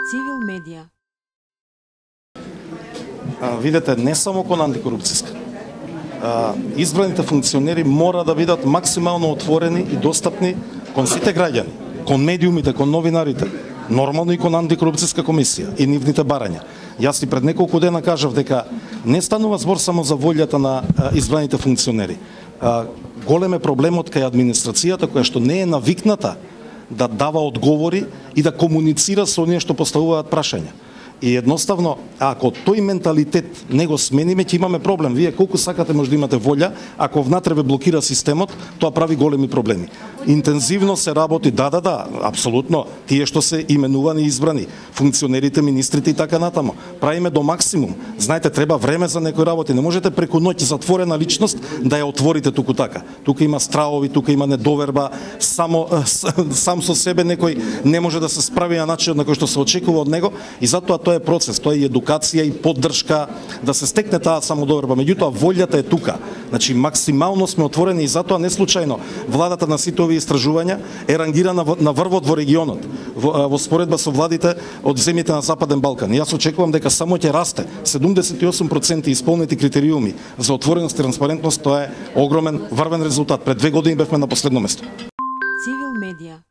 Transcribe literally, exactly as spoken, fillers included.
Цивил медија. А, видете, не само кон антикорупцијска. А, избраните функционери мора да бидат максимално отворени и достапни кон сите граѓани, кон медиумите, кон новинарите, нормално и кон антикорупцијска комисија и нивните барања. Јас и пред неколку дена кажав дека не станува збор само за волјата на а, избраните функционери. А, голем е проблемот кај администрацијата која што не е навикната да дава одговори и да комуницира со оние што поставуваат прашања. И едноставно, ако тој менталитет не го смениме, ќе имаме проблем. Вие колку сакате може да имате волја, ако внатре ве блокира системот, тоа прави големи проблеми. Интензивно се работи, да, да, да, апсолутно, тие што се именувани и избрани, функционерите, министрите и така натаму. Правиме до максимум. Знаете, треба време за некои работи. Не можете преку ноќ затворена личност да ја отворите туку така. Тука има стравови, тука има недоверба, само сам со себе некој не може да се справи на начинот на кој што се очекува од него и затоа тоа е процес, тоа е едукација и поддршка да се стекне таа самодоверба. Меѓутоа волјата е тука. Значи максимално сме отворени и затоа не случајно владата на сите овие истражувања е рангирана на врвот во регионот во, во споредба со владите од земјите на Западен Балкан. И јас очекувам дека само ќе расте. седумдесет и осум проценти исполнети критериуми за отвореност и транспарентност, тоа е огромен врвен резултат. Пред две години бевме на последно место. Цивил медија.